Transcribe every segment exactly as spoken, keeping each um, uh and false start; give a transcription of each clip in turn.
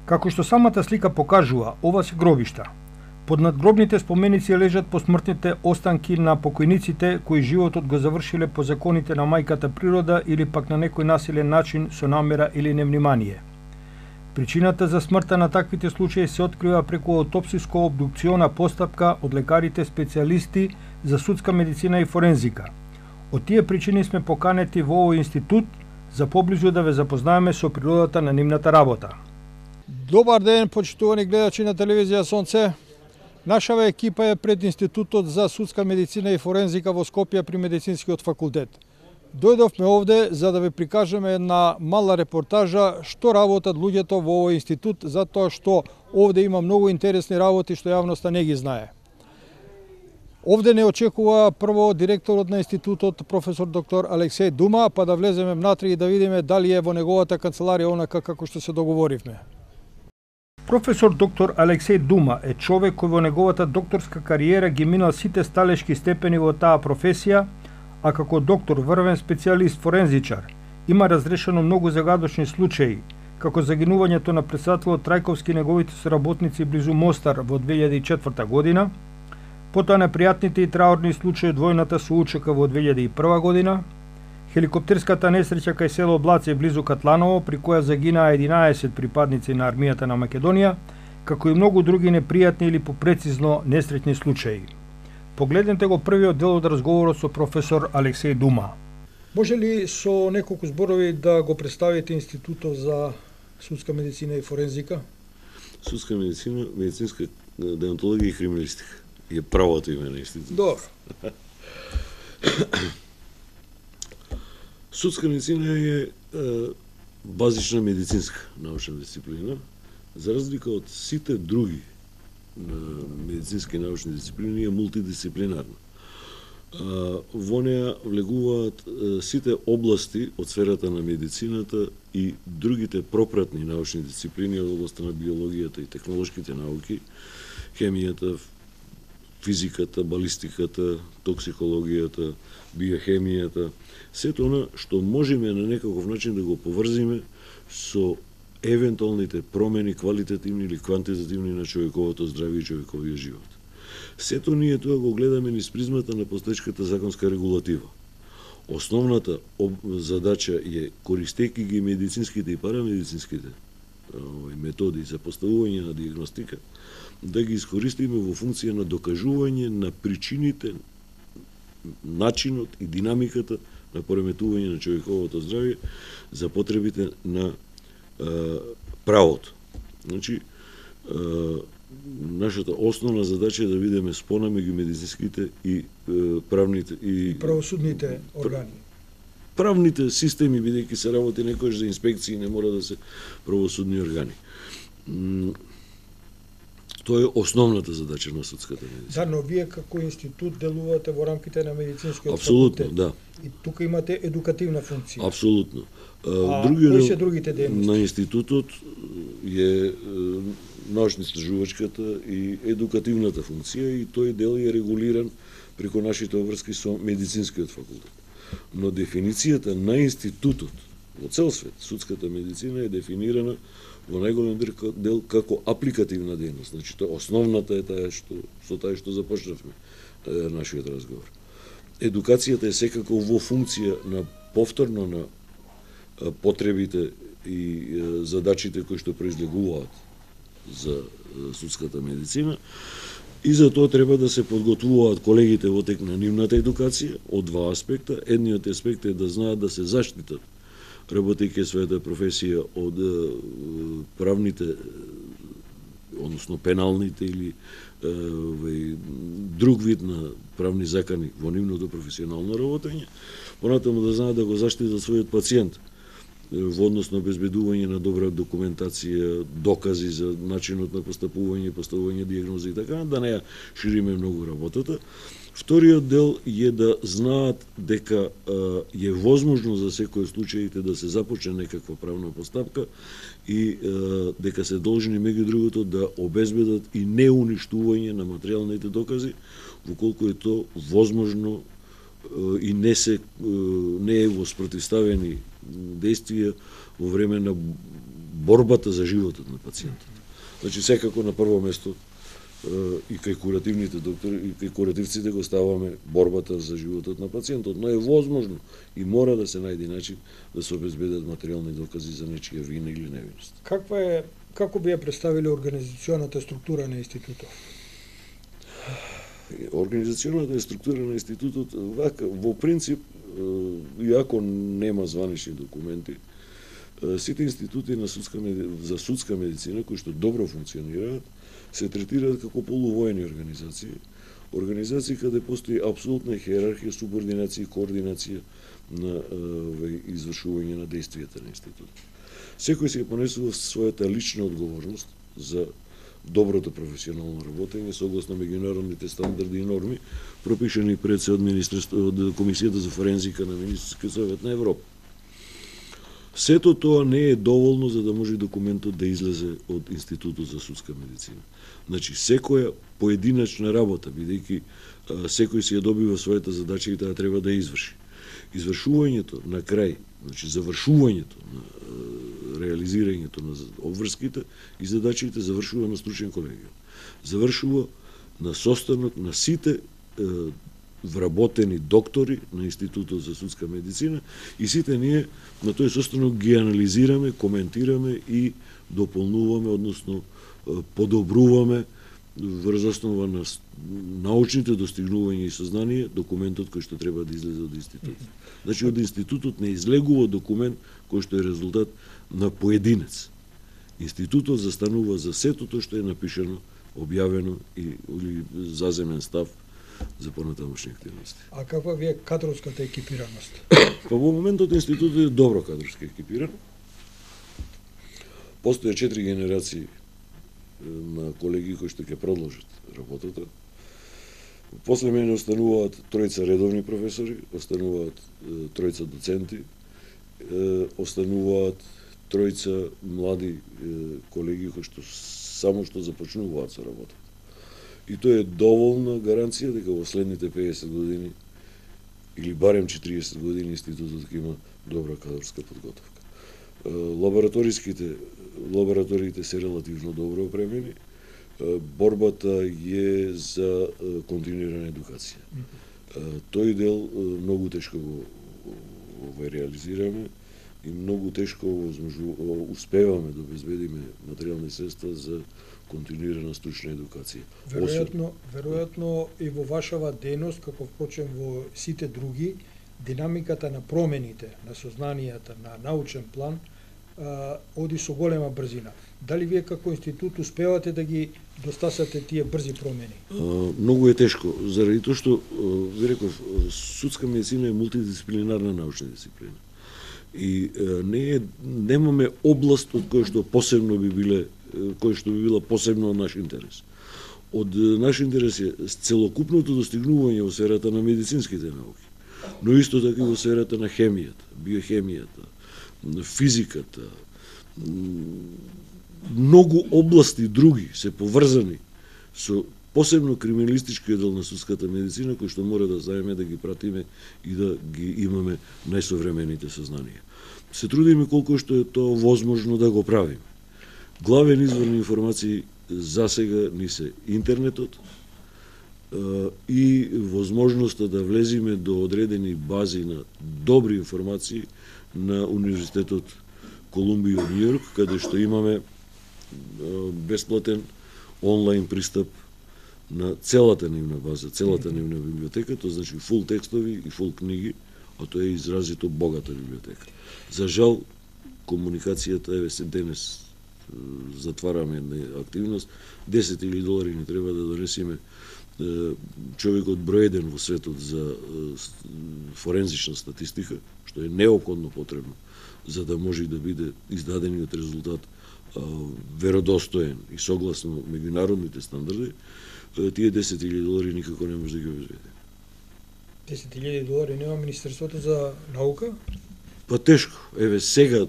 Како што самата слика покажува, ова се гробишта. Под надгробните споменици лежат посмртните останки на покојниците кои животот го завршиле по законите на мајката природа или пак на некој насилен начин со намера или невнимание. Причината за смртта на таквите случаи се открива преку аутопсиско-обдукциона постапка од лекарите специјалисти за судска медицина и форензика. Од тие причини сме поканети во овој институт за поблизу да ве запознаеме со природата на нивната работа. Добар ден, почитувани гледачи на телевизија Сонце. Нашава екипа е пред Институтот за судска медицина и форензика во Скопје при Медицинскиот факултет. Дојдовме овде за да ви прикажеме една мала репортажа што работат луѓето во овој институт, затоа што овде има многу интересни работи што јавноста не ги знае. Овде не очекува прво директорот на институтот, професор доктор Алексеј Дума, па да влеземе внатре и да видиме дали е во неговата канцеларија онака како што се договоривме. Професор доктор Алексеј Дума е човек кој во неговата докторска кариера ги минал сите сталешки степени во таа професија, а како доктор, врвен специјалист форензичар, има разрешено многу загадочни случаи, како загинувањето на председателот Трајковски и неговите соработници близу Мостар во две илјади и четврта година, потоа непријатните и траурни случаи од војната со УЧК во две илјади и прва година, хеликоптерската несреќа кај село Блаце близу Катланово, при која загинаа единаесет припадници на армијата на Македонија, како и многу други непријатни или попрецизно несреќни случаи. Погледнете го првиот дел од разговорот со професор Алексеј Дума. Може ли со неколку зборови да го представите Институтот за судска медицина и форензика? Судска медицина, медицинска деонтологија и криминалистика е правото име на институтот. Добро. Судска медицина е, е базична медицинска научна дисциплина, за разлика од сите други медицински научни дисциплини е мултидисциплинарна. Во неа влегуваат сите области од сферата на медицината и другите пропратни научни дисциплини од областта на биологијата и технолошките науки, хемијата, физиката, балистиката, токсикологијата, биохемијата, сето она што можеме на некаков начин да го поврзиме со евентуалните промени, квалитативни или квантитативни на човековото здравје и човековиот живот. Сето ние тоа го гледаме низ призмата на постоечката законска регулатива. Основната задача е, користејќи ги медицинските и парамедицинските методи за поставување на диагностика, да ги искористиме во функција на докажување на причините, начинот и динамиката на пореметување на човековото здравје за потребите на е, правото. Значи, е, нашата основна задача е да видиме спона меѓу медицинските и е, правните и, и правосудните органи. Правните системи, бидејќи се работи некојаш за инспекции, не мора да се правосудни органи. Тоа е основната задача на судската медицина. Да, но вие како институт делувате во рамките на медицинскиот Апсолутно, факултет. да. И тука имате едукативна функција. Апсолутно. А кои се другите дејности? На институтот е научно-истражувачката и едукативната функција и тој дел е регулиран преку нашите обврски со медицинскиот факултет. Но дефиницијата на институтот во цел свет, судската медицина е дефинирана во најголем дел како апликативна дејност. Значи, тоа основната е таа што со таа што започнавме е, нашиот разговор. Едукацијата е секако во функција на повторно на а, потребите и а, задачите кои што произлегуваат за а, судската медицина. И за тоа треба да се подготвуваат колегите во тек на нивната едукација од два аспекта. Едниот аспект е да знаат да се заштитат работејќи својата професија од е, правните, односно пеналните или е, друг вид на правни закани во нивното професионално работење, понатаму да знаат да го заштитат својот пациент во однос на обезбедување на добра документација, докази за начинот на постапување, поставување диагнози и така, да не ја шириме многу работата. Вториот дел е да знаат дека е возможно за секој случаите да се започне некаква правна постапка и дека се должни меѓу другото да обезбедат и неуништување на материјалните докази, воколку е то возможно и не се не е во спротивставени действија во време на борбата за животот на пациентот. Значи секако на прво место и кај куративните доктори и кај куративците го ставаме борбата за животот на пациентот, но е возможно и мора да се најде начин да се обезбедат материјални докази за нечија вина или невиност. Каква е, како би ја представиле организационата структура на институтот? Организационата структура на институтот вака во принцип, иако нема званични документи, сите институти на судска за судска медицина кои што добро функционираат се третираат како полувоени организации, организации каде постои апсолутна хиерархија, субординација и координација на извршување на действијата на институтот. Секој се понесува својата лична одговорност за доброто професионално работење согласно меѓународните стандарди и норми пропишани пред се од министерство од Комисијата за форензика на Министерскиот совет на Европа. Сето тоа не е доволно за да може документот да излезе од Институтот за судска медицина. Значи, секоја поединачна работа, бидејќи секој си ја добива својата задача и таа треба да ја изврши. Извршувањето на крај, значи завршувањето на реализирањето на обврските и задачите завршува на стручен колегиум. Завршува на состанок на сите е, вработени доктори на Институтот за судска медицина и сите ние на тој состанок ги анализираме, коментираме и дополнуваме, односно подобруваме врз основа на научните достигнувања и сознание документот кој што треба да излезе од институтот. Значи од институтот не излегува документ кој што е резултат на поединец. Институтот застанува за сето тоа што е напишано, објавено и или заземен став за понатамошни активности. А каква ви е кадровската екипираност? Па во моментот институтот е добро кадровски екипиран. Постоje четири генерации на колеги кои што ќе продолжат работата. После мене остануваат тројца редовни професори, остануваат тројца доценти, остануваат тројца млади колеги кои што само што започнуваат со работа. И тоа е доволна гаранција дека во следните педесет години или барем четириесет години институтот ќе има добра кадрска подготовка. Лабораториските лабораториите се релативно добро опремени. Борбата е за континуирана едукација. Тој дел многу тешко го, го реализираме и многу тешко возможу, успеваме да обезбедиме материјални средства за континуирана стручна едукација. Веројатно, веројатно и во вашава дејност, како впрочем во сите други, динамиката на промените, на сознанијата, на научен план, а, оди со голема брзина. Дали вие како институт успевате да ги достасате тие брзи промени? А, многу е тешко, заради тоа што, ви реков, судска медицина е мултидисциплинарна научна дисциплина. И а, не е, немаме област од која што посебно би биле, кој што би била посебно од наш интерес. Од наш интерес е целокупното достигнување во сферата на медицинските науки, но исто така и во сферата на хемијата, биохемијата, физиката, многу области други се поврзани со посебно криминалистичкиот дел на судската медицина, кој што мора да знаеме, да ги пратиме и да ги имаме најсовремените сознанија. Се трудиме колку што е тоа возможно да го правиме. Главен извор на информации за сега ни се интернетот и возможноста да влезиме до одредени бази на добри информации на Универзитетот Колумбија од Њујорк, каде што имаме бесплатен онлайн пристап на целата нивна база, целата нивна библиотека, тоа значи фул текстови и фул книги, а тоа е изразито богата библиотека. За жал, комуникацијата, еве се денес затвараме една активност, десет илјади долари ни треба да донесиме човекот број еден во светот за форензична статистика, што е неопходно потребно, за да може да биде издадениот резултат веродостоен и согласно меѓународните стандарди, тие десет илјади долари никако не може да ги обезбеди. десет илјади долари нема Министерството за наука? Па тешко. Еве сега,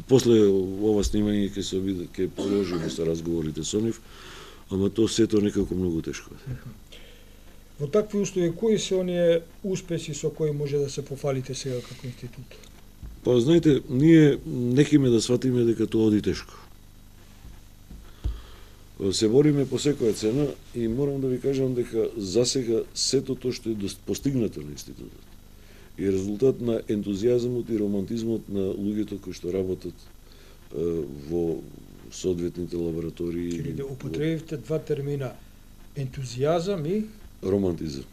после ова снимање ќе се обиде, ќе продолжиме со разговорите со нив, ама тоа сето некако многу тешко. Во такви услови, кои се оние успеси со кои може да се пофалите сега како институт? Па, знаете, ние нехиме да сватиме дека тоа оди тешко. Се бориме по секоја цена и морам да ви кажам дека засега сето тоа што е постигнато на институтот и резултат на ентузијазмот и романтизмот на луѓето кои што работат во соодветните лаборатории. Или да употребивте два термина, ентузијазам и романтизам.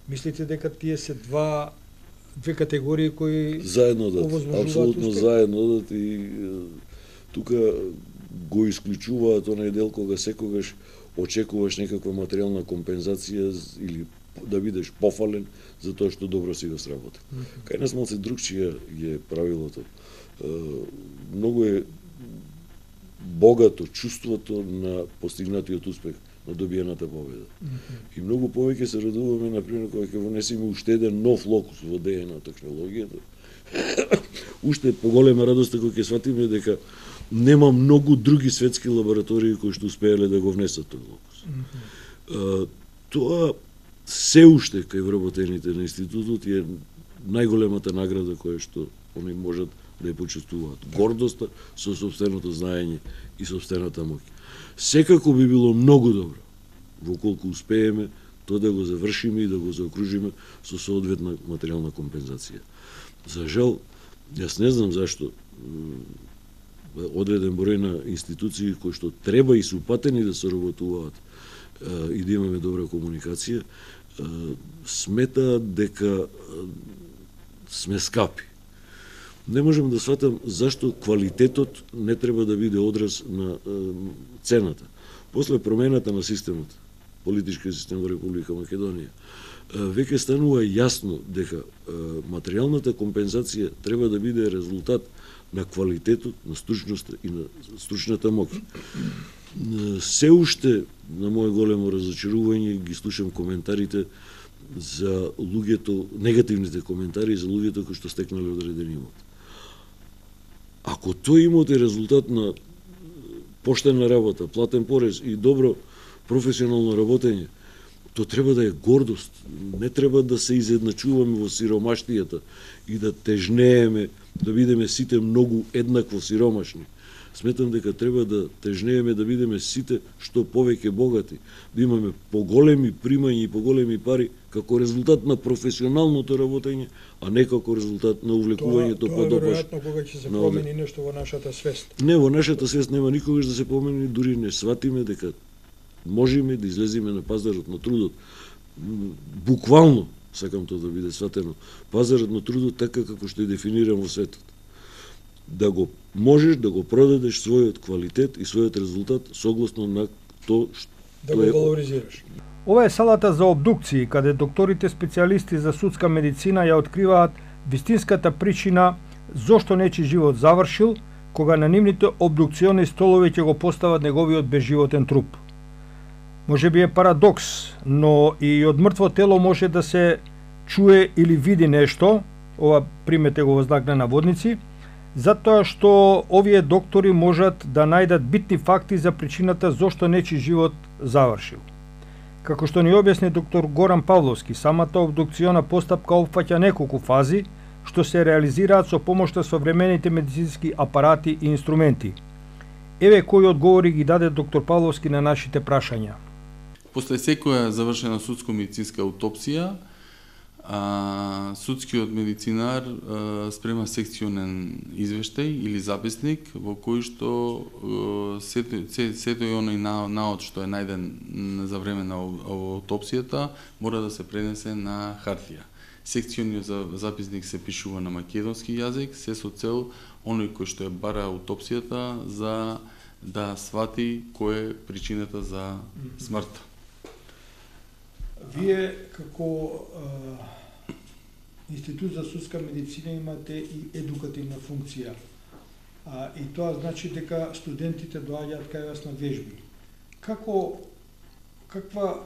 Мислите дека тие се два две категории кои заедно одат, апсолутно заедно одат и тука го исклучуваат онај дел кога секогаш очекуваш некаква материјална компензација или да бидеш пофален за тоа што добро си го сработил. Mm -hmm. Кај нас малце другчија е правилото. Многу е богато чувството на постигнатиот успех, на добиената победа. Mm -hmm. И многу повеќе се радуваме, например, кога ќе вонесеме уште еден нов локус во ДН на технологијата. Уште поголема радост кога ќе сватиме дека нема многу други светски лаборатории кои што успеале да го внесат тој локус. Mm -hmm. Тоа се уште кај вработените на институтот е најголемата награда која што они можат да ја почувствуваат. Гордоста со сопственото знаење и сопствената моќ. Секако би било многу добро, воколку успееме, тоа да го завршиме и да го заокружиме со соодветна материјална компензација. За жал, јас не знам зашто одреден број на институции кои што треба и се упатени да соработуваат и да имаме добра комуникација, сметаат дека сме скапи. Не можам да сватам зашто квалитетот не треба да биде одраз на цената. После промената на системот, политички систем во Република Македонија, веќе станува јасно дека материјалната компензација треба да биде резултат на квалитетот, на стручноста и на стручната моќ. Се уште, на моје големо разочарување, ги слушам коментарите за луѓето, негативните коментари за луѓето кои што стекнале одреден имот. Ако тој имот е резултат на поштена работа, платен порез и добро професионално работење, то треба да е гордост. Не треба да се изедначуваме во сиромаштијата и да тежнееме, да бидеме сите многу еднакво сиромашни. Сметам дека треба да тежнееме да бидеме сите што повеќе богати, да имаме поголеми примања и поголеми пари како резултат на професионалното работење, а не како резултат на увлекувањето по допаш. Тоа е веројатно кога ќе се промени нешто во нашата свест. Не, во нашата свест нема никогаш да се промени, дури не сватиме дека можеме да излеземе на пазарот на трудот. Буквално, сакам тоа да биде сватено, пазарот на трудот така како што е дефиниран во светот. Да го можеш да го продадеш својот квалитет и својот резултат согласно на тоа што да го валоризираш. Ова е салата за обдукции, каде докторите специјалисти за судска медицина ја откриваат вистинската причина зошто нечи живот завршил, кога на нивните обдукциони столови ќе го постават неговиот безживотен труп. Може би е парадокс, но и од мртво тело може да се чуе или види нешто, ова примете го во знак на наводници, затоа што овие доктори можат да најдат битни факти за причината зошто нечи живот завршил. Како што ни објасни доктор Горан Павловски, самата обдукциона постапка опфаќа неколку фази, што се реализираат со помошта современите медицински апарати и инструменти. Еве кои одговори ги даде доктор Павловски на нашите прашања. После секоја завршена судско-медицинска аутопсија, А, судскиот медицинар а, спрема секционен извештај или записник во кој што сето, сето и оној наод што е најден за време на аутопсијата мора да се пренесе на хартија. Секциониот записник се пишува на македонски јазик, се со цел оној кој што е бара аутопсијата за да свати кој е причината за смртта. Вие како а, Институт за судска медицина имате и едукативна функција. А, и тоа значи дека студентите доаѓаат кај вас на вежби. Како каква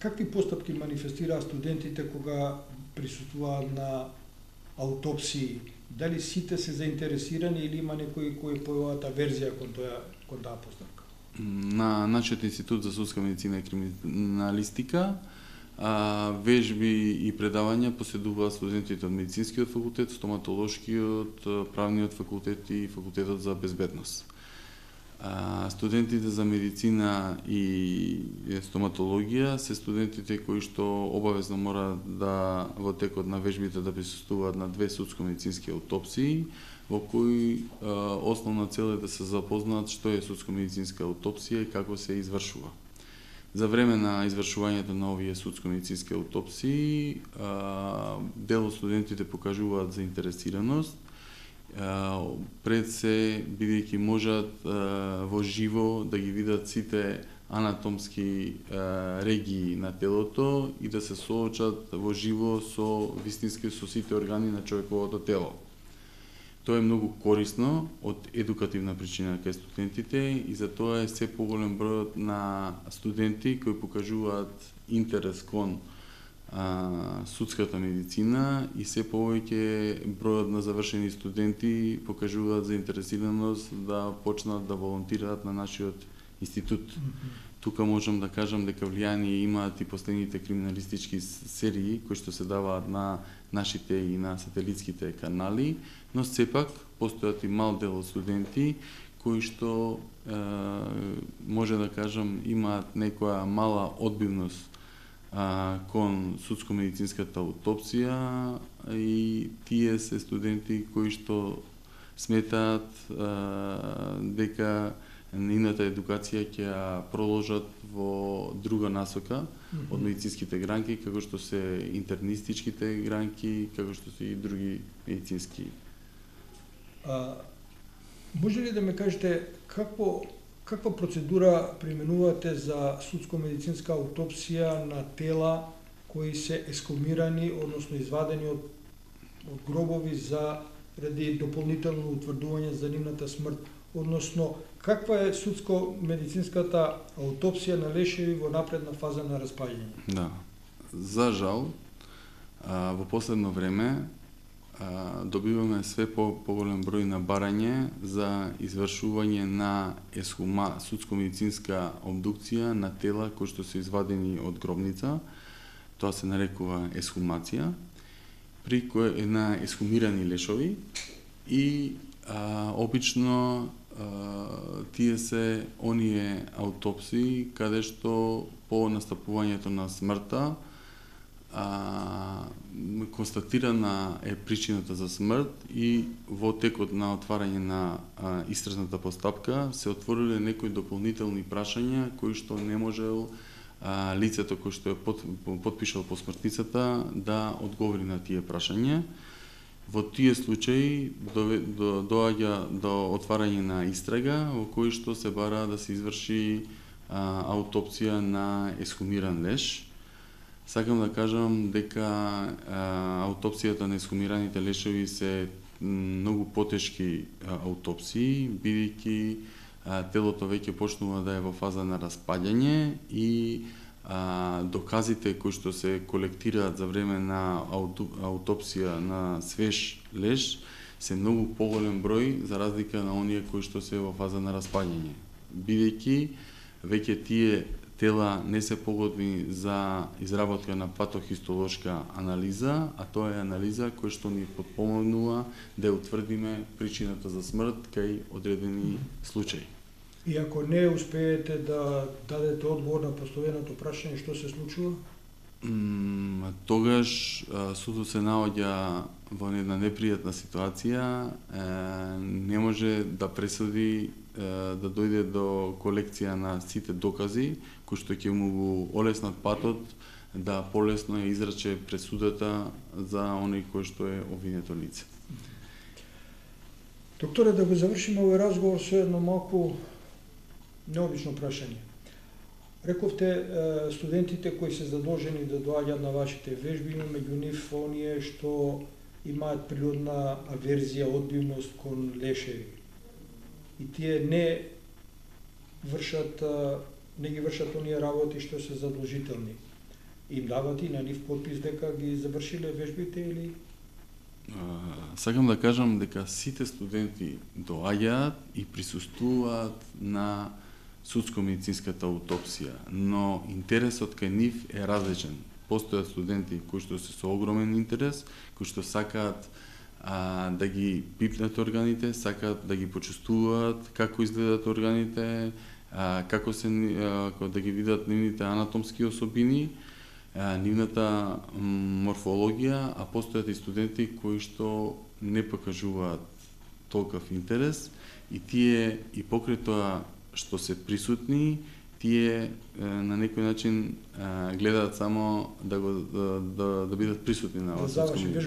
какви постапки манифестираат студентите кога присуствуваат на аутопсии? Дали сите се заинтересирани или има некои кои појават аверзија кон тоа кон таа постапка? На нашиот Институт за судска медицина и криминалистика а, вежби и предавања поседуваат студентите од медицинскиот факултет, стоматолошкиот, правниот факултет и факултетот за безбедност. А, студентите за медицина и стоматологија се студентите кои што обавезно мора да во текот на вежбите да присуствуваат на две судско-медицински аутопсии, во кои а, основна цел е да се запознаат што е судско-медицинска аутопсија и како се извршува. За време на извршувањето на овие судско-медицински аутопсии, а, дел од студентите покажуваат заинтересираност, пред се бидејќи можат во живо да ги видат сите анатомски регии на телото и да се соочат во живо со вистински со сите органи на човековото тело. Тоа е многу корисно од едукативна причина кај студентите и затоа е се поголем бројот на студенти кои покажуваат интерес кон А, судската медицина и се повеќе бројот на завршени студенти покажуваат заинтересираност да почнат да волонтираат на нашиот институт. Mm-hmm. Тука можам да кажам дека влијание имаат и последните криминалистички серии кои што се даваат на нашите и на сателитските канали, но сепак постојат и мал дел од студенти кои што е, може да кажам имаат некоја мала одбивност А, кон судско-медицинската аутопсија и тие се студенти кои што сметаат а, дека нивната едукација ќе ја проложат во друга насока mm-hmm. од медицинските гранки, како што се интернистичките гранки, како што се и други медицински. А, може ли да ме кажете какво Каква процедура применувате за судско-медицинска аутопсија на тела кои се ескумирани, односно извадени од, од гробови за ради дополнително утврдување за нивната смрт? Односно, каква е судско-медицинската аутопсија на лешеви во напредна фаза на распаѓање? Да. За жал, а, во последно време добиваме све по поголем број на барање за извршување на есхума, судско-медицинска обдукција на тела кои што се извадени од гробница. Тоа се нарекува есхумација, при кој е на есхумирани лешови и а, обично а, тие се оние аутопсии каде што по настапувањето на смртта А, констатирана е причината за смрт и во текот на отварање на а, истражната постапка се отвориле некои дополнителни прашања кои што не можел а, лицето кој што е под, подпишал посмртницата да одговори на тие прашања. Во тие случаи до, до, доаѓа до отварање на истрага во кој што се бара да се изврши а, аутопсија на есхумиран леш. Сакам да кажам дека а, аутопсијата на есхумираните лешеви се многу потешки а, аутопсии, бидејќи а, телото веќе почнува да е во фаза на распаѓање и а, доказите кои што се колектираат за време на ауту, аутопсија на свеж леш се многу поголем број за разлика на оние кои што се во фаза на распаѓање, бидејќи веќе тие тела не се погодни за изработка на патохистолошка анализа, а тоа е анализа која што ни подпомогнува да утврдиме причината за смрт кај одредени случаи. И ако не успеете да дадете одговор на поставеното прашање, што се случува? Mm, тогаш судот се наоѓа во една непријатна ситуација, е, не може да пресуди да дојде до колекција на сите докази, кои што ќе му го олеснат патот да полесно ја изрече пресудата за оној кој што е обвинето лице. Докторе, да го завршиме овој разговор со едно малку необично прашање. Рековте, студентите кои се задолжени да доаѓаат на вашите вежби, има меѓу нив оние што имаат природна аверзија, одбивност кон лешеви. И тие не вршат, не ги вршат оние работи што се задолжителни. Им дават и на нив подпис дека ги завршиле вежбите или? Сакам да кажам дека сите студенти доаѓаат и присуствуваат на судско-медицинската аутопсија, но интересот кај нив е различен. постојат студенти кои што се со огромен интерес, кои што сакаат а, да ги пипнат органите, сакаат да ги почувствуваат како изгледат органите, а, како се а, да ги видат нивните анатомски особини, а, нивната морфологија, а постојат и студенти кои што не покажуваат толков интерес и тие и покрај тоа што се присутни, тие на некој начин гледаат само да го да, да, да бидат присутни на оваа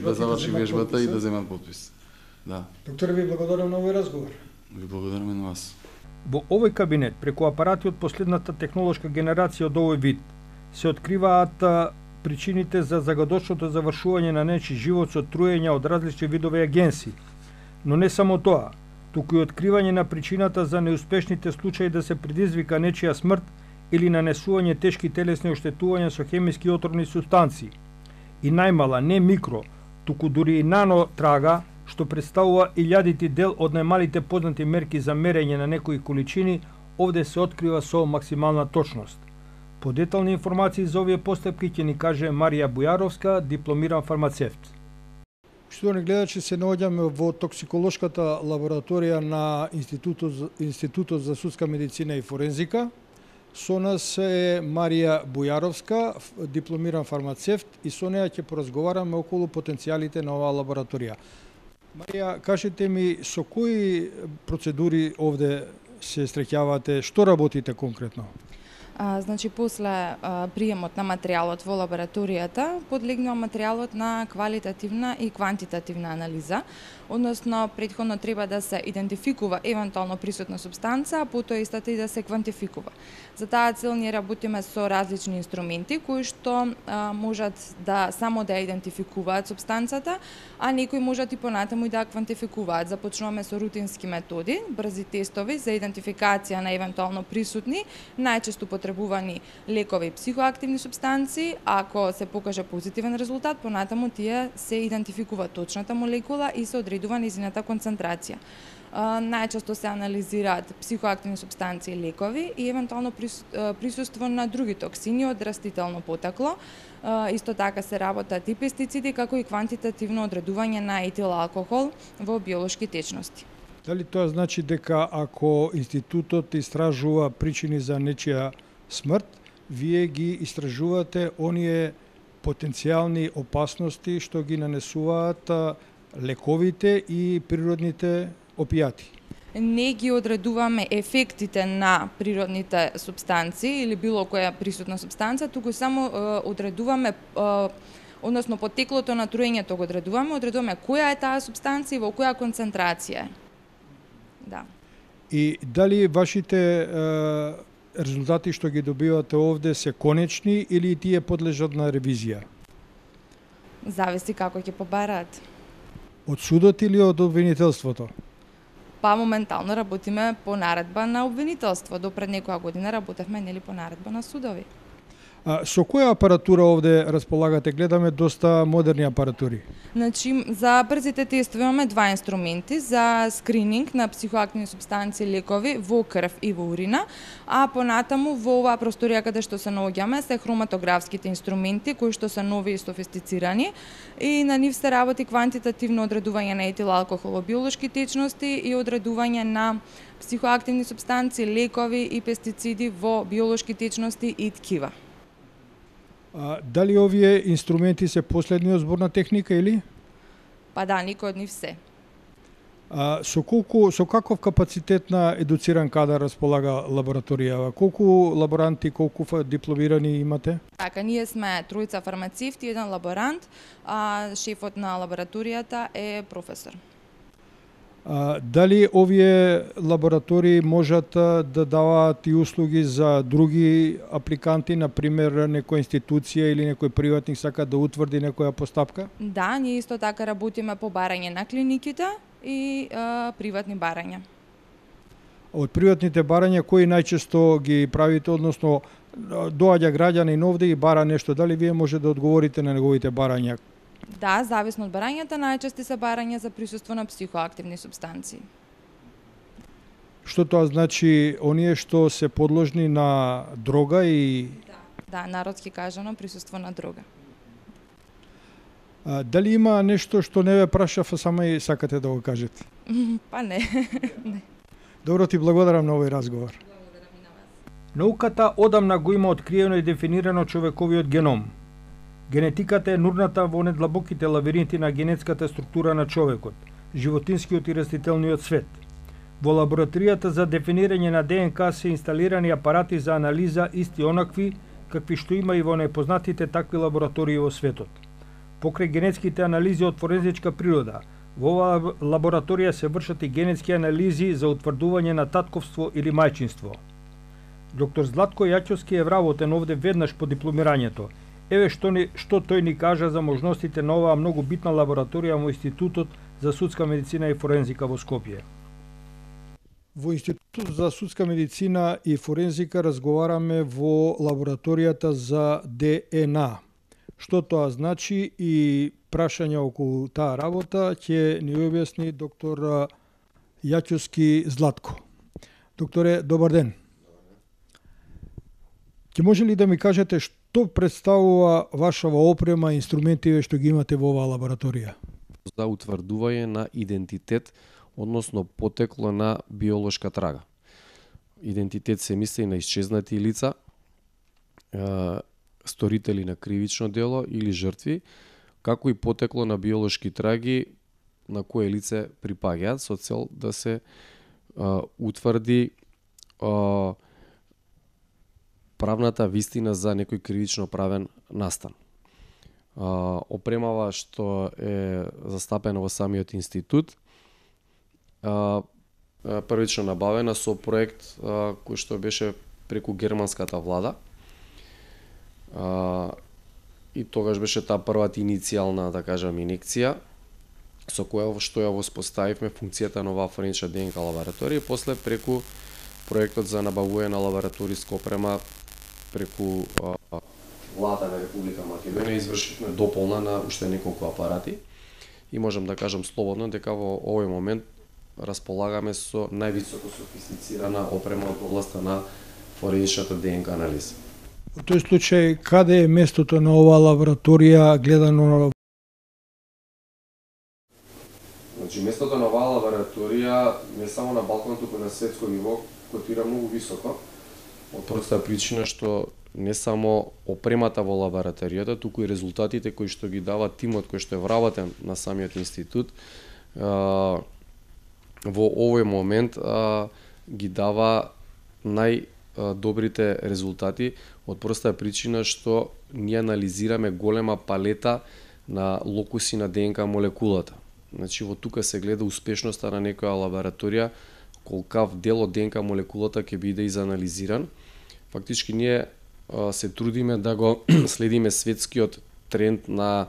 да заврши вежбата и да земат потпис. Да. Доктор, ви благодарам на овој разговор. Ви благодараме на вас. Во овој кабинет, преку апарати од последната технолошка генерација од овој вид, се откриваат причините за загадочното завршување на нечи живот со труење од различни видови агенси. Но не само тоа, туку и откривање на причината за неуспешните случаи да се предизвика нечија смрт или нанесување тешки телесни оштетувања со хемиски отровни супстанции. И најмала, не микро, туку дури и нано трага, што представува илјадити дел од најмалите познати мерки за мерење на некои количини, овде се открива со максимална точност. Подетални информации за овие постапки ќе ни каже Марија Бујаровска, дипломиран фармацевт. Штовани гледачи, се наоѓаме во токсиколошката лабораторија на Институтот, Институтот за судска медицина и форензика. Со нас е Марија Бујаровска, дипломиран фармацевт, и со неја ќе поразговараме околу потенцијалите на оваа лабораторија. Марија, кажете ми, со кои процедури овде се среќавате, што работите конкретно? А, значи, после а, приемот на материјалот во лабораторијата, подлегнува материјалот на квалитативна и квантитативна анализа, односно претходно треба да се идентификува евентуално присутна супстанца, а потоа истата и да се квантификува. За таа цел ние работиме со различни инструменти кои што а, можат да само да идентификуваат супстанцата, а некои можат и понатаму и да квантификуваат. Започнуваме со рутински методи, брзи тестови за идентификација на евентуално присутни, најчесто потребувани лекови и психоактивни супстанции. Ако се покаже позитивен резултат, понатаму тие се идентификува точната молекула и се одредува низината концентрација. Најчесто се анализираат психоактивни супстанции и лекови и евентуално присуство на други токсини од растително потекло. Исто така се работат и пестициди, како и квантитативно одредување на етил алкохол во биолошки течности. Дали тоа значи дека ако институтот истражува причини за нечија смрт, вие ги истражувате оние потенцијални опасности што ги нанесуваат лековите и природните опијати? Не ги одредуваме ефектите на природните супстанции или било која присутна супстанца, туку само е, одредуваме, е, односно потеклото на труењето го одредуваме, одредуваме која е таа супстанција и во која концентрација е. Да. И дали вашите е, резултати што ги добивате овде се конечни или тие подлежат на ревизија? Зависи како ќе побараат. Од судот или од обвинителството? Па моментално работиме по наредба на обвинителство. До пред некоја година работевме нели по наредба на судови. А, со која апаратура овде располагате? Гледаме доста модерни апаратури. Значи, за брзите тестови имаме два инструменти за скрининг на психоактивни супстанции, лекови во крв и во урина, а понатаму во оваа просторија каде што се наоѓаме се хроматографските инструменти кои што се нови и софистицирани и на нив се работи квантитативно одредување на етил алкохол во биолошки течности и одредување на психоактивни супстанции, лекови и пестициди во биолошки течности и ткива. А, дали овие инструменти се последниот зборна техника или? Па да, никој од нив се. А, со колку, со каков капацитет на едуциран кадар располага лабораторија? Колку лаборанти, колку дипломирани имате? Така, ние сме тројца фармацевти, еден лаборант, а шефот на лабораторијата е професор. А, дали овие лаборатории можат да даваат и услуги за други апликанти, например некоја институција или некој приватник сака да утврди некоја постапка? Да, ние исто така работиме по барање на клиниките и а, приватни барања. Од приватните барања кои најчесто ги правите, односно доаѓа граѓанин овде и бара нешто, дали вие може да одговорите на неговите барања? Да, зависно од барањата, најчести се барања за присуство на психоактивни супстанции. Што тоа значи, оние што се подложни на дрога и... Да, да, народски кажано, присуство на дрога. А, дали има нешто што не ве прашав, а само и сакате да го кажете? Па не. не. Добро, ти благодарам на овој разговор. Науката одамна го има откриено и дефинирано човековиот геном. Генетиката е нурната во недлабоките лавиринти на генетската структура на човекот, животинскиот и растителниот свет. Во лабораторијата за дефинирање на ДНК се инсталирани апарати за анализа исти онакви какви што има и во непознатите такви лаборатории во светот. Покрај генетските анализи од форензичка природа, во оваа лабораторија се вршат и генетски анализи за утврдување на татковство или мајчинство. Доктор Златко Јачовски е вработен овде веднаш по дипломирањето. Еве што, ни, што тој ни кажа за можностите на оваа многу битна лабораторија во Институтот за судска медицина и форензика во Скопје. Во Институтот за судска медицина и форензика разговараме во лабораторијата за ДНА. Што тоа значи и прашања околу таа работа ќе ни објасни доктор Јачовски Златко. Докторе, добар ден. Ќе може ли да ми кажете што представува вашава опрема и инструментиве што ги имате во оваа лабораторија? За утврдување на идентитет, односно потекло на биолошка трага. Идентитет се мисли на исчезнати лица, сторители на кривично дело или жртви, како и потекло на биолошки траги на кое лице припаѓаат со цел да се а, утврди а, правната вистина за некој кривично правен настан. А, опремава што е застапено во самиот институт, а, првично набавена со проект а, кој што беше преку германската влада. А, и тогаш беше таа првата иницијална, да кажам, инекција со која што ја воспоставивме функцијата на оваа форензична ДНК лабораторија, и после преку проектот за набавување на лабораториска опрема преку а, влада на Република Македонија извршивме дополна на уште неколку апарати и можам да кажам слободно дека во овој момент располагаме со највисоко софистицирана опрема од областа на форензичната ДНК анализа. Во тој случај, каде е местото на оваа лабораторија гледано на... Значи, местото на оваа лабораторија не само на Балкан, туку на светско ниво, котира многу високо, од простата причина што не само опремата во лабораторијата, туку и резултатите кои што ги дава тимот кој што е вработен на самиот институт, а, во овој момент а, ги дава најдобрите резултати од простата причина што ние анализираме голема палета на локуси на ДНК молекулата. Значи, во тука се гледа успешноста на некоја лабораторија, колкав дел од ДНК молекулата ќе биде изанализиран. Фактички ние а, се трудиме да го следиме светскиот тренд на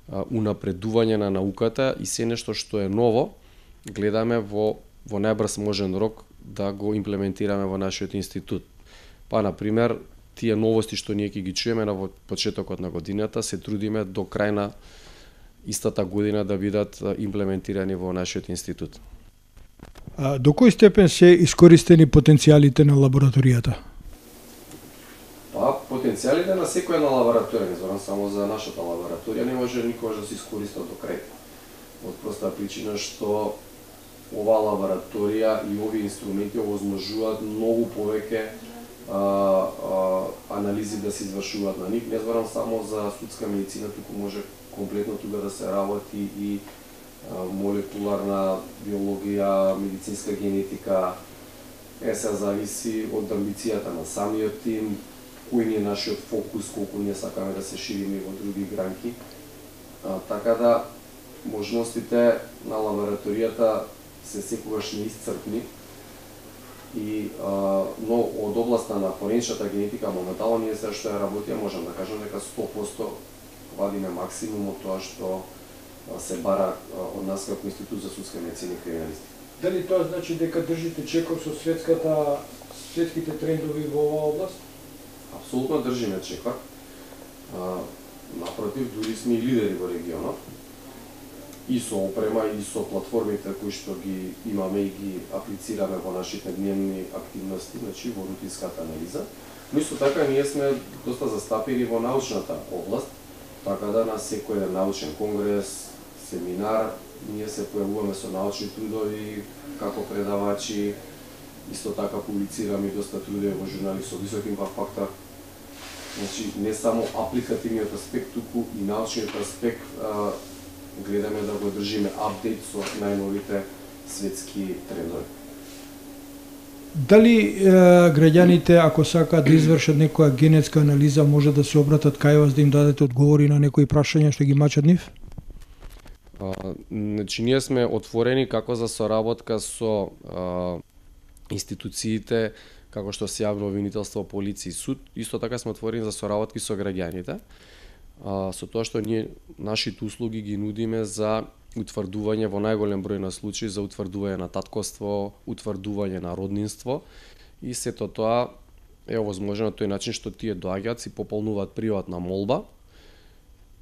а, унапредување на науката и се нешто што е ново, гледаме во, во најбрз можен рок да го имплементираме во нашиот институт. Па, например, тие новости што ние ќе ги чуеме на почетокот на годината, се трудиме до крај на истата година да бидат имплементирани во нашиот институт. А, до кој степен се искористени потенцијалите на лабораторијата? Па, потенцијалите на секоја една лабораторија, не зборам само за нашата лабораторија, не може никогаш да се искористат до крај. Од проста причина што оваа лабораторија и овие инструменти овозможуваат многу повеќе а, а, анализи да се извршуваат на нив. Не зборам само за судска медицина, туку може комплетно тука да се работи и а, молекуларна биологија, медицинска генетика. Е, се зависи од амбицијата на самиот тим, кој ни е нашиот фокус, колку ние сакаме да се шириме во други гранки. А, така да, можностите на лабораторијата се секогаш неисцрпни и а, но од областа на форензичната генетика моментално ние се што ја работиме, можам да кажам дека сто проценти вадиме максимум од тоа што а, се бара а, од нас како Институт за судска медицина и криминалистика. Дали тоа значи дека држите чекор со светската светските трендови во оваа област? Апсолутно држиме чекор. А, напротив, дури сме и лидери во регионот. и со опрема и со платформите кои што ги имаме и ги аплицираме во нашите дневни активности, значи во рутинската анализа. Но исто така ние сме доста застапени во научната област, така да на секој еден научен конгрес, семинар, ние се појавуваме со научни трудови како предавачи, исто така публицираме доста трудови во журнали со висок импакт фактор. Значи не само апликативниот аспект, туку и научниот аспект а, гледаме да го држиме апдейт со најновите светски трендови. Дали е, граѓаните, ако сакаат да извршат некоја генетска анализа, може да се обратат кај вас да им дадете одговори на некои прашања што ги мачат нив? А, значи, ние сме отворени како за соработка со а, институциите, како што се јавно обвинителство, полиција и суд. Исто така сме отворени за соработки со граѓаните, а, со тоа што ние нашите услуги ги нудиме за утврдување во најголем број на случаи за утврдување на татковство, утврдување на роднинство и сето тоа е овозможено на тој начин што тие доаѓаат, си пополнуваат приватна молба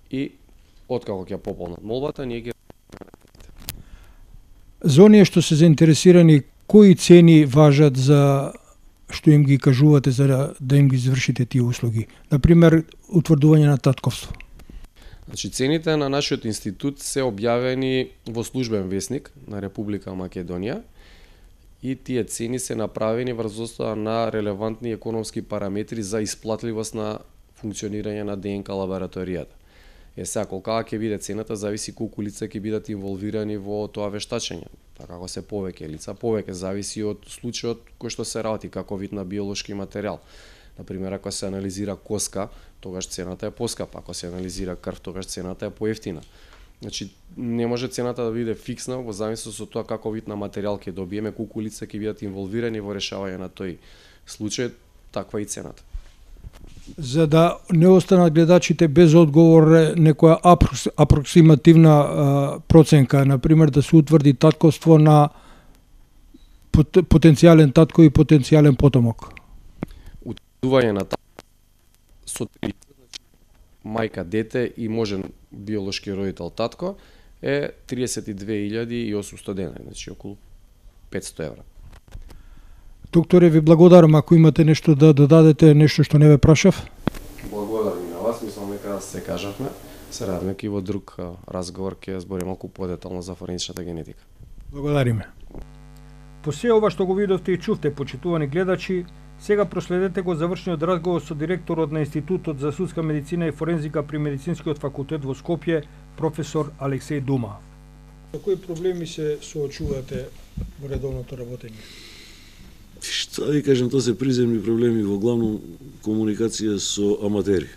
и откако ќе пополнат молбата, ние ги... За оние што се заинтересирани, кои цени важат за што им ги кажувате за да, да им ги извршите тие услуги? Например, утврдување на татковство. Значи, цените на нашиот институт се објавени во службен весник на Република Македонија и тие цени се направени врз основа на релевантни економски параметри за исплатливост на функционирање на ДНК лабораторијата. Е сега, колкава ќе биде цената, зависи колку лица ќе бидат инволвирани во тоа вештачење. Така како се повеќе лица, повеќе зависи од случајот кој што се работи, како вид на биолошки материјал. Например, ако се анализира коска, тогаш цената е поскапа, ако се анализира крв, тогаш цената е поевтина. Значи, не може цената да биде фиксна во зависност од тоа како вид на материјал ќе добиеме, колку лица ќе бидат инволвирани во решавање на тој случај, таква и цената. За да не останат гледачите без одговор, некоја апроксимативна а, проценка, например да се утврди татковство на потенцијален татко и потенцијален потомок. Утврдување на татко со три, мајка, дете и можен биолошки родител татко е триесет и две илјади и осумстотини денари, значи околу петсто евра. Докторе, ви благодарам, ако имате нешто да додадете, нешто што не ве прашав. Благодарам и на вас, мислам дека се кажавме. Се радаме ки во друг разговор ќе збориме малку подетално за форензичната генетика. Благодариме. По се ова што го видовте и чувте, почитувани гледачи, сега проследете го завршниот разговор со директорот на Институтот за судска медицина и форензика при Медицинскиот факултет во Скопје, професор Алексеј Дума. Со кои проблеми се соочувате во редовното работење? Што да ви кажем, тоа се приземни проблеми, во главно комуникација со аматери.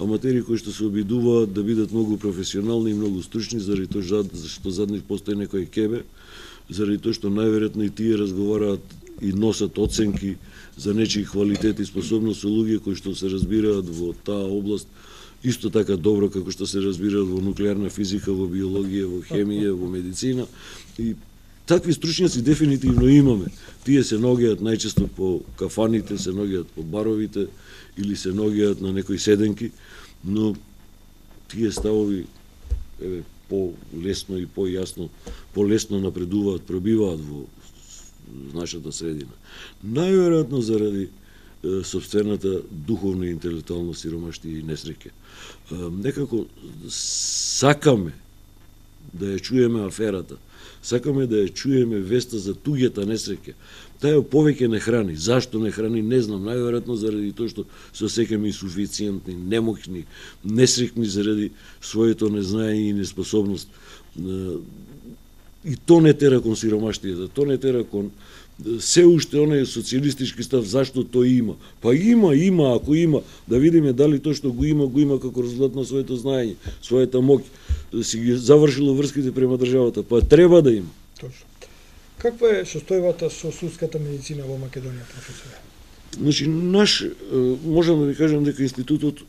Аматери кои што се обидуваат да бидат многу професионални и многу стручни, заради тоа што зад нив постои некој кебе, заради тоа што најверојатно и тие разговараат и носат оценки за нечии квалитет и способност со луѓе кои што се разбираат во таа област исто така добро како што се разбираат во нуклеарна физика, во биологија, во хемија, во медицина. И такви стручњаци дефинитивно имаме. Тие се наоѓаат најчесто по кафаните, се наоѓаат по баровите или се наоѓаат на некои седенки, но тие ставови еве по-лесно и по-јасно, по-лесно напредуваат, пробиваат во нашата средина. Најверојатно заради е, собствената духовна и интелектуална сиромаштија и несреќа. Е, некако сакаме да ја чуеме аферата, сакаме да ја чуеме веста за туѓата несреќа. Таа повеќе не храни. Зашто не храни, не знам. Најверојатно заради тоа што се осеќаме инсуфициентни, немоќни, несреќни заради своето незнаење и неспособност. И то не тера кон сиромаштијата, то не тера кон се уште оној социјалистички став, зашто тој има. Па има, има, ако има, да видиме дали тоа што го има, го има како резултат на своето знаење, својата моќ, си ги завршило врските према државата, па треба да има. Точно. Каква е состојбата со судската медицина во Македонија, професоре? Значи, наш, можам да ви кажам дека институтот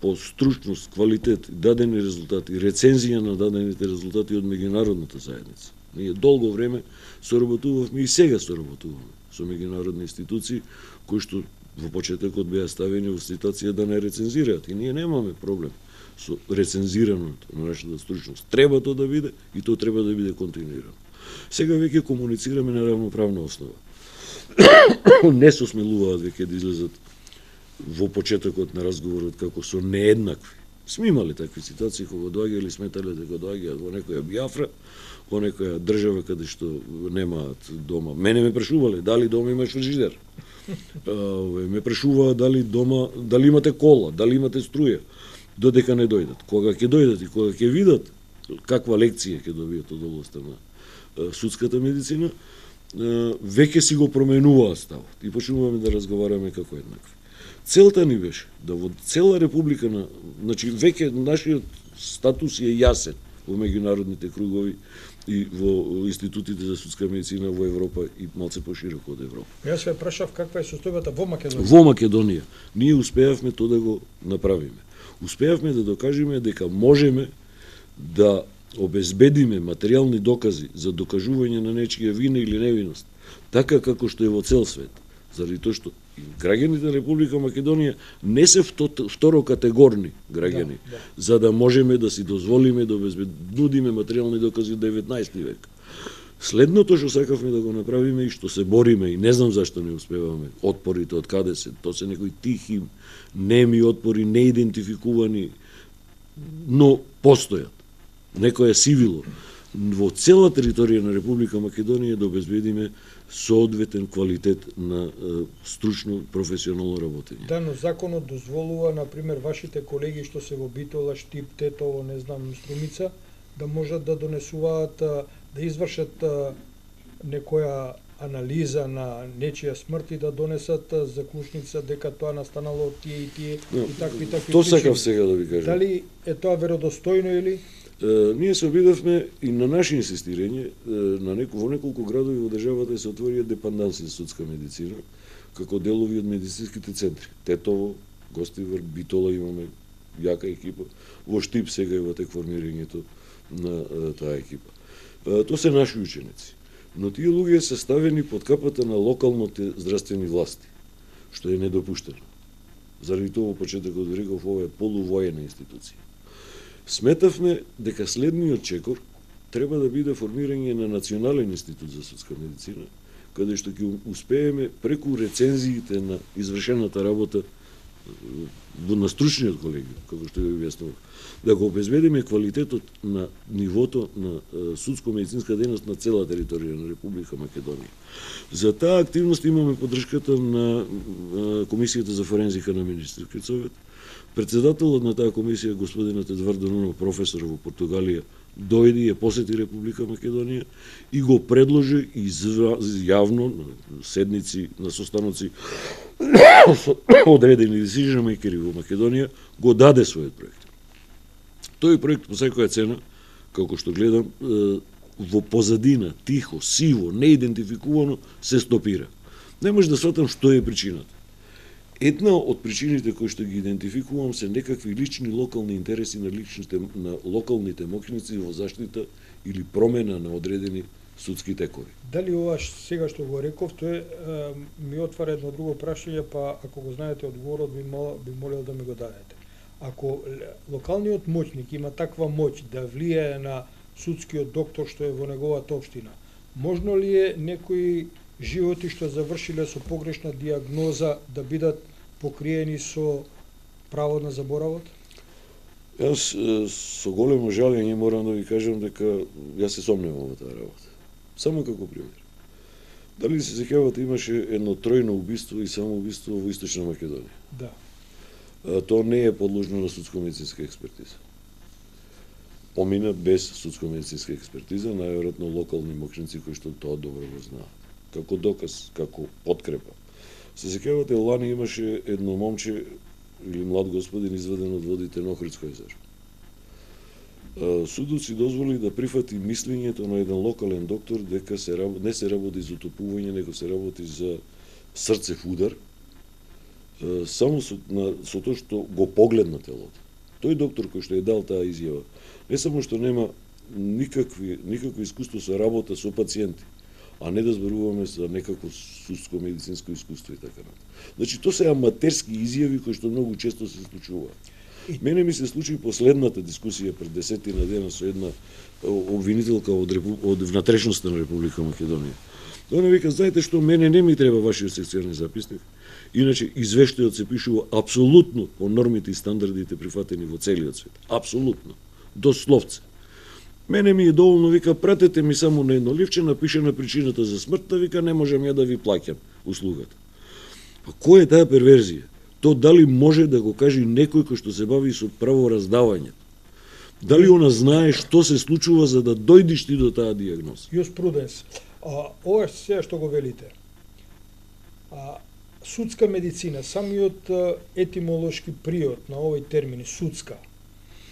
по стручност, квалитет, дадени резултати, рецензија на дадените резултати од меѓународната заедница. Ние долго време соработувавме и сега соработуваме со меѓународни институции кои што во почетокот беа ставени во ситуација да не рецензираат и ние немаме проблем со рецензираното на нашата стручност. Треба тоа да биде и тоа треба да биде континуирано. Сега веќе комуницираме на равноправна основа. Не се осмелуваат веќе да излезат во почетокот на разговорот како со нееднакви. Сме имали такви ситуации кога доаѓали, сметале дека доаѓаат во некоја Биафра, во некоја држава каде што немаат дома. Мене ме прашувале дали дома имаш фрижидер. Ме прашуваа дали дома, дали имате кола, дали имате струја, додека не дојдат. Кога ќе дојдат и кога ќе видат каква лекција ќе добијат од областта на судската медицина, веќе си го променуваа ставот и почнуваме да разговараме како еднакви. Целта ни беше да во цела република на, значи веќе нашиот статус е јасен во меѓународните кругови и во институтите за судска медицина во Европа и малце пошироко од Европа. Јас ве прашав каква е состојбата во Македонија. Во Македонија ние успеавме тоа да го направиме. Успеавме да докажеме дека можеме да обезбедиме материјални докази за докажување на нечија вина или невиност, така како што е во цел свет. Заради тоа што граѓаните на Република Македонија не се второкатегорни граѓани, да, да. За да можеме да си дозволиме да обезбедиме материјални докази од деветнаесети век. Следното што сакавме да го направиме и што се бориме, и не знам зашто не успеваме, отпорите од каде се, тоа се некои тихи, неми отпори, неидентификувани, но постојат. Некоја сивило во цела територија на Република Македонија да обезбедиме соодветен квалитет на е, стручно професионално работење. Да, но законот дозволува, на пример, вашите колеги што се во Битола, Штип, Тетово, не знам, Струмица, да можат да донесуваат, да извршат некоја анализа на нечија смрт и да донесат заклучница дека тоа настанало од тие и тие no, и такви такви. Тоа сакав сега да ви кажам. Дали е тоа веродостојно или? Uh, ние се обидовме и на наше инсистирање, uh, на неко, во неколку градови во државата се отворија депанданси за судска медицина, како делови од медицинските центри. Тетово, Гостивар, Битола имаме јака екипа, во Штип сега е во тек формирањето на uh, таа екипа. Uh, тоа се наши ученици, но тие луѓе се ставени под капата на локалните здравствени власти, што е недопуштено. Заради тоа во почетокот реков, ова е полувоена институција. Сметавме дека следниот чекор треба да биде формирање на Национален институт за судска медицина, каде што ќе успееме преку рецензиите на извршената работа на стручниот колегиум, како што ви објаснував, да го обезбедиме квалитетот на нивото на судско-медицинска дејност на цела територија на Република Македонија. За таа активност имаме поддршката на Комисијата за форензика на Министерскиот совет. Председателот на таа комисија, господинот Едвардо Нунов, професор во Португалија, дојде и ја посети Република Македонија и го предложи јавно на седници, на состаноци одредени decision makeri во Македонија, го даде својот проект. Тој проект по секоја цена, како што гледам, во позадина, тихо, сиво, неидентификувано, се стопира. Не може да сватам што е причината. Една од причините кои што ги идентификувам се некакви лични локални интереси на личните на локалните моќници во заштита или промена на одредени судски текови. Дали ова сега што го реков, тоа ми отвара едно друго прашање, па ако го знаете одговорот би мол, би молел да ми го дадете. Ако локалниот моќник има таква моќ да влијае на судскиот доктор што е во неговата општина, можно ли е некои животи што завршиле со погрешна диагноза да бидат покриени со право на заборавот? Јас со големо жалење морам да ви кажам дека јас се сомневам во таа работа. Само како пример. Дали се сеќавате, имаше едно тројно убиство и самоубиство во Источна Македонија? Да. А, тоа не е подложно на судско-медицинска експертиза. Помина без судско-медицинска експертиза, најверојатно локални моќници кои што тоа добро го знаат. Како доказ, како подкрепа. Се сеќавате, лани имаше едно момче или млад господин изведен од водите на Охридско езеро. Судот си дозволи да прифати мислењето на еден локален доктор дека се не се работи за утопување, него се работи за срцев удар, само со, на, со тоа што го погледна телото. Тој доктор кој што е дал таа изјава, не само што нема никакви, никакво искуство со работа со пациенти, а не да зборуваме за некакво судско медицинско искуство и така натаму. Значи тоа се аматерски изјави кои што многу често се случуваат. Мене ми се случи последната дискусија пред десетина дена со една обвинителка од, Репу... од внатрешноста на Република Македонија. Она вика, знаете што, мене не ми треба вашиот секциони записник, иначе извештајот се пишува апсолутно по нормите и стандардите прифатени во целиот свет. Апсолутно. Дословце. Мене ми е доволно, вика, пратете ми само на едно ливче, напишена причината за смртта, вика, не можам ја да ви плаќам услугата. Па кој е таа перверзија? То дали може да го каже некој кој што се бави со правораздавање? Дали она знае што се случува за да дојдеш ти до таа диагноза? Јуспруденс. А, ова е се што го велите. А, судска медицина, самиот етимолошки приод на овој термин, судска,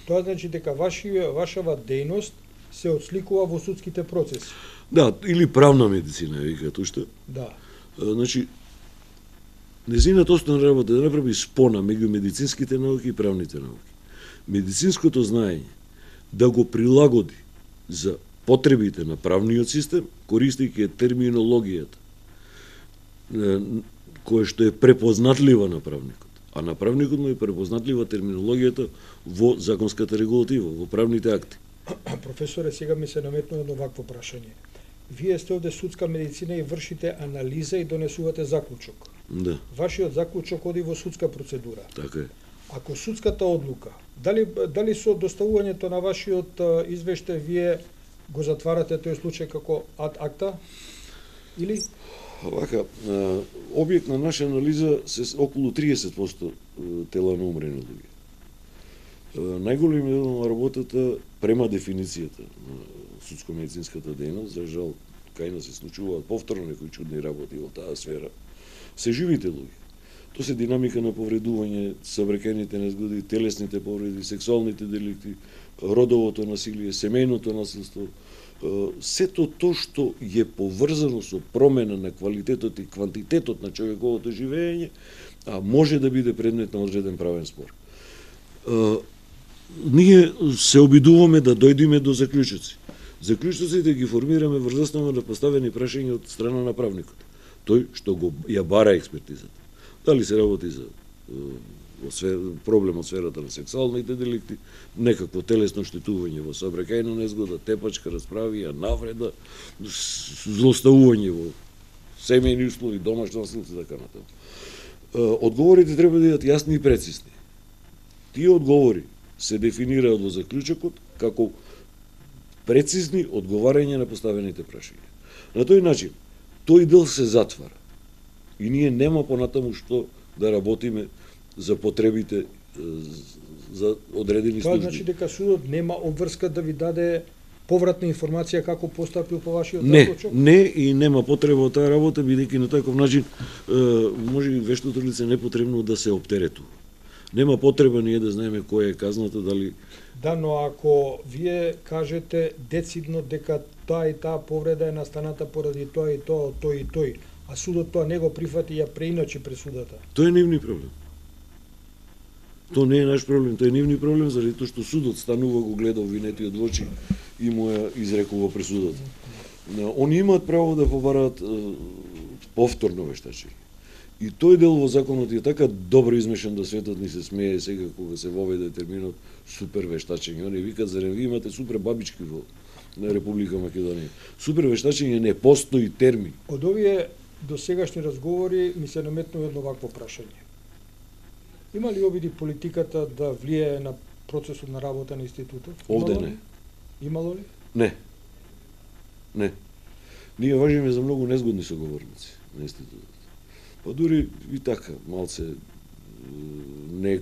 тоа значи дека вашија, вашава дејност се отсликува во судските процеси. Да, или правна медицина, викаат уште. Да. А, значи, незината основна работа е да направи спона меѓу медицинските науки и правните науки. Медицинското знаење да го прилагоди за потребите на правниот систем, користејќи терминологијата, која што е препознатлива на правникот. А на правникот му е препознатлива терминологијата во законската регулатива, во правните акти. Професоре, сега ми се наметнува едно вакво прашање. Вие сте овде судска медицина и вршите анализа и донесувате заклучок. Да. Вашиот заклучок оди во судска процедура. Така е. Ако судската одлука, дали дали со доставувањето на вашиот извештај вие го затварате тој случај како ад акта или Вака, објект на наша анализа се околу триесет проценти тела на умрени луѓе. Најголемиот дел на работата према дефиницијата на судско-медицинската дејност, за жал кај нас се случуваат повторно некои чудни работи во таа сфера, се живите луѓе. Тоа се динамика на повредување, сабрекените незгоди, телесните повреди, сексуалните деликти, родовото насилие, семејното насилство, сето тоа што е поврзано со промена на квалитетот и квантитетот на човековото живење, а може да биде предмет на одреден правен спор. Ние се обидуваме да дојдеме до заклучоци. Заклучоците ги формираме врз основа на поставени прашања од страна на правникот. Тој што го ја бара експертизата. Дали се работи за проблем од сферата на сексуалните деликти, некакво телесно штетување во сообраќајна незгода, тепачка, расправија, навреда, злоставување во семејни услови, домашно насилство и така натаму. Одговорите треба да бидат јасни и прецизни. Тие одговори се дефинираат во заклучокот како прецизни одговарања на поставените прашања. На тој начин, тој дел се затвара. И ние нема понатаму што да работиме за потребите за одредени служби. Тоа значи дека судот нема обврска да ви даде повратна информација како постапил по вашиот не, заклучок? Не, и нема потреба од таа работа, бидејќи на таков начин може и вештото лице непотребно да се оптеретува. Нема потреба ние да знаеме која е казната, дали... Да, но ако вие кажете децидно дека таа и таа повреда е настаната поради тоа и тоа, тој и тој, а судот тоа не го прифати и ја преиначи пресудата. Тоа е нивни проблем. Тоа не е наш проблем, тоа е нивни проблем, заради тоа што судот станува, го гледа обвинетиот во очи и му ја изрекува пресудата. Они имаат право да побараат повторно вештачење. И тој дел во законот е така добро измешан да светот ни се смее сега кога се воведе терминот супер вештачење. Они викаат, зарем ви имате супер бабички во на Република Македонија. Супер вештачење не постои термин. Од овие досегашни разговори ми се наметнува едно вакво прашање. Има ли обиди политиката да влијае на процесот на работа на институтот? Овде Имало не. Ли? Имало ли? Не. Не. Ние важиме за многу незгодни соговорници на институтот. Па дури и така, малце не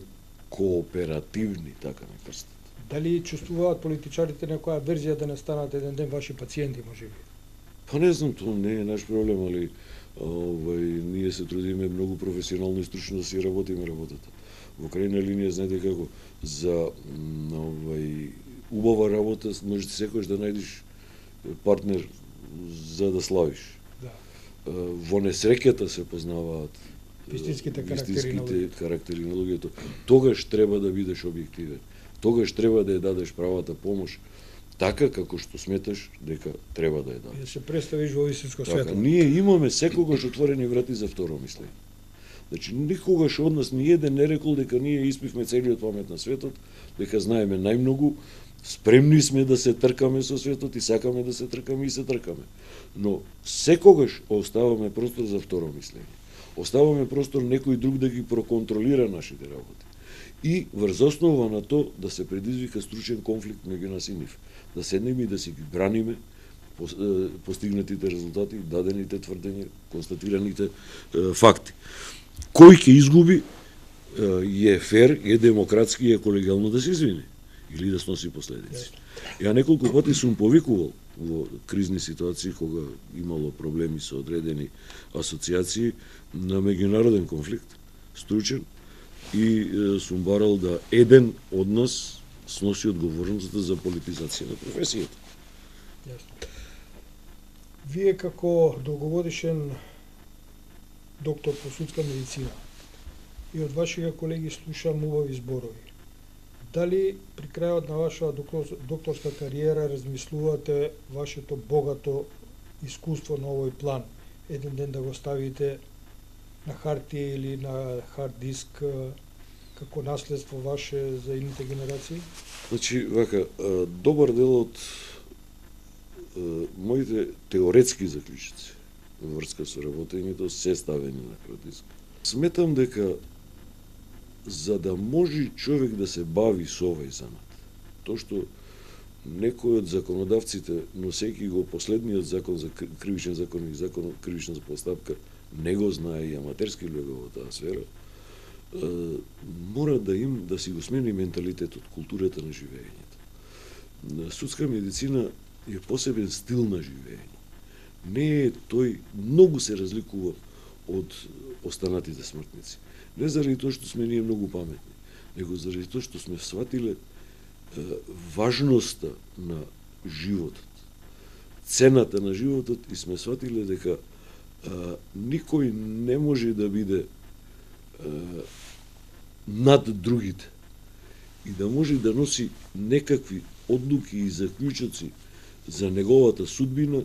кооперативни, така на крстат. Дали чувствуваат политичарите некоја верзија да не станат еден ден ваши пациенти, може би? Па не знам, тоа не е наш проблем, али овај, ние се трудиме многу професионално и стручно да си работиме работата. Во крајна линија, знаете како, за овај, убава работа можеш секојаш да најдеш партнер за да славиш. Да. Во несреќата се познаваат вистинските карактери, вистинските карактери на луѓето. Тогаш треба да бидеш објективен. Тогаш треба да ја дадеш правата помош така како што сметаш дека треба да ја дадеш. Да се представиш во истинско така, светло. Ние имаме секогаш отворени врати за второ мислење. Значи, никогаш од нас ни еден не рекол дека ние испивме целиот памет на светот, дека знаеме најмногу, спремни сме да се тркаме со светот и сакаме да се тркаме и се тркаме. Но секогаш оставаме простор за второ мислење. Оставаме простор некој друг да ги проконтролира нашите работи. И врз основа на то да се предизвика стручен конфликт меѓу нас и нив. Да седнеме и да си ги браниме постигнатите резултати, дадените тврдења, констатираните е, факти. Кој ќе изгуби е фер, е демократски и е колегиално да се извини или да сноси последици. Ја неколку пати сум повикувал во кризни ситуации кога имало проблеми со одредени асоциации на меѓународен конфликт, стручен, и е, сум барал да еден од нас сноси одговорноста за политизација на професијата. Јасно. Вие како долгогодишен доктор по судска медицина и од вашите колеги слушам убави зборови. Дали при крајот на вашата докторска кариера размислувате вашето богато искуство на овој план еден ден да го ставите на хартија или на хард диск како наследство ваше за идните генерации? Значи, вака, добар дел од моите теоретски заклучици во врска со работењето се ставени на хард диск. Сметам дека за да може човек да се бави со овој занат, тоа што некој од законодавците, носејќи го последниот закон за кривичен закон и закон за кривична постапка, не го знае и аматерски луѓе во таа сфера, мора да им да си го смени менталитетот, културата на живеењето. Судска медицина е посебен стил на живеење. Не е тој, многу се разликува од останатите смртници. Не заради тоа што сме ние многу паметни, него заради тоа што сме сватиле е, важноста на животот, цената на животот и сме сватиле дека е, никој не може да биде е, над другите и да може да носи некакви одлуки и заклучоци за неговата судбина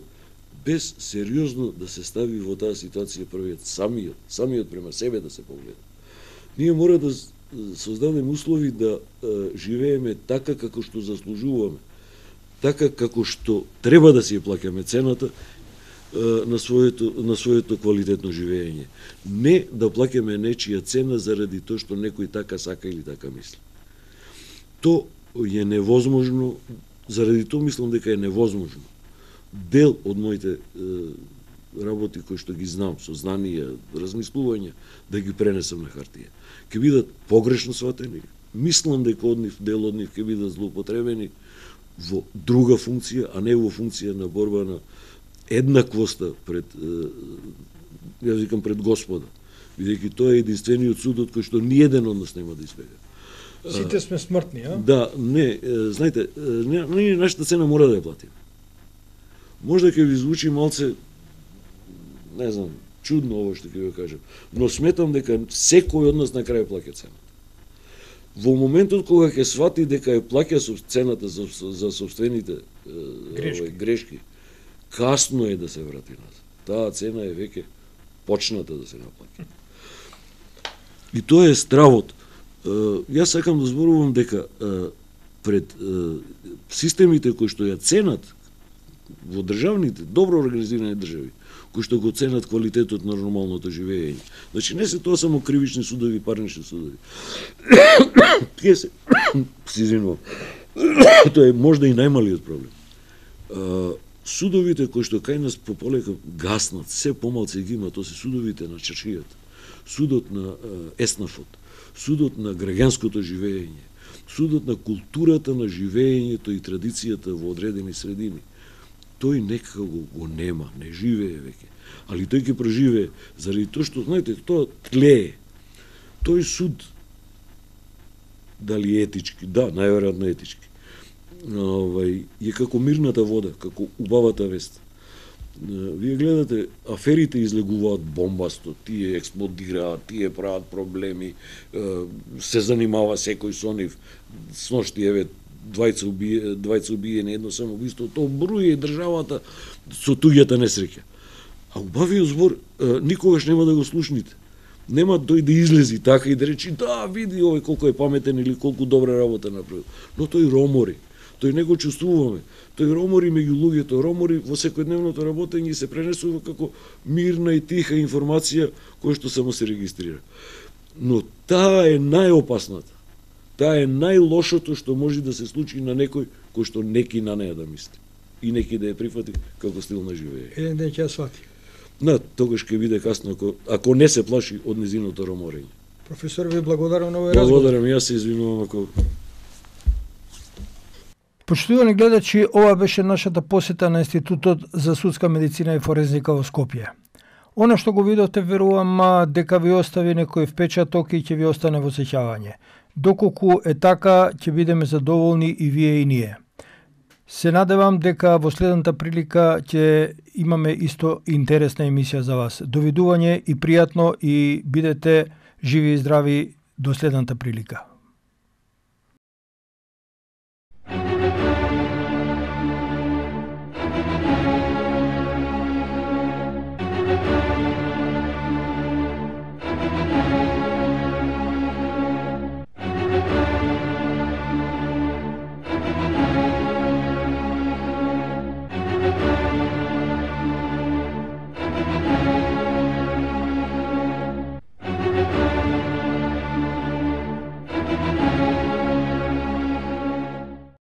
без сериозно да се стави во таа ситуација првиот, самиот, самиот према себе да се погледа. Ние мора да создадеме услови да е, живееме така како што заслужуваме, така како што треба да си ја плаќаме цената е, на своето на своето квалитетно живеење. Не да плаќаме нечија цена заради тоа што некој така сака или така мисли. То е невозможно, заради тоа мислам дека е невозможно. Дел од моите е, работи кои што ги знам, со знанија, размислувања, да ги пренесам на хартија. Ке бидат погрешно сватени, мислам дека од нив, дел од нив ке бидат злоупотребени во друга функција, а не во функција на борба на еднаквоста пред, јас викам пред Господа, бидејќи тоа е единствениот судот кој што ниеден од нас нема да избега. Сите сме смртни, а? Да, не, знаете, ние нашата цена мора да ја платиме. Можда ќе ви звучи малце, не знам, чудно ово што ќе ви кажам, но сметам дека секој од нас на крај плаќа цената. Во моментот кога ќе свати дека ја плаќа цената за, за собствените грешки. Овај, грешки, касно е да се врати назад. Таа цена е веќе почната да се наплаќа. И тоа е стравот. Јас сакам да зборувам дека пред системите кои што ја ценат во државните, добро организирани држави, кои што го ценат квалитетот на нормалното живеење. Значи не се тоа само кривични судови, парнични судови. Тие се, се извинувам, тоа е можда и најмалиот проблем. А, судовите кои што кај нас пополека гаснат, се помалце ги има, тоа се судовите на чаршијата, судот на а, еснафот, судот на граѓанското живеење, судот на културата на живеењето и традицијата во одредени средини. Тој некако го, го нема, не живее веќе. Али тој ќе проживее заради тоа што, знаете, тоа тлее. Тој суд, дали етички, да, најверојатно етички, овај, е како мирната вода, како убавата вест. Вие гледате, аферите излегуваат бомбасто, тие експлодираат, тие прават проблеми, се занимава секој со нив. Сношти, еве, двајца убие, двајца убиени, едно самоубиство, тоа бруи државата со туѓата несреќа. А убавиот збор никогаш нема да го слушните. Нема тој да излези така и да речи да, види овој колку е паметен или колку добра работа направил. Но тој ромори. Тој не го чувствуваме. Тој ромори меѓу луѓето, ромори во секојдневното работење и се пренесува како мирна и тиха информација која што само се регистрира. Но таа е најопасната. Таа е најлошото што може да се случи на некој кој што неки на неа да мисли. И неки да ја прифати како стил на живење. Еден ден ќе ја свати. На, тогаш ќе биде касно ако, ако не се плаши од незиното роморење. Професор, ви благодарам на овој разговор. Благодарам, јас се извинувам ако... Почитувани гледачи, ова беше нашата посета на Институтот за судска медицина и форензика во Скопје. Она што го видовте, верувам дека ви остави некој впечаток и ќе ви остане во сеќавање. Доколку е така, ќе бидеме задоволни и вие и ние. Се надевам дека во следната прилика ќе имаме исто интересна емисија за вас. Довидување и пријатно и бидете живи и здрави до следната прилика.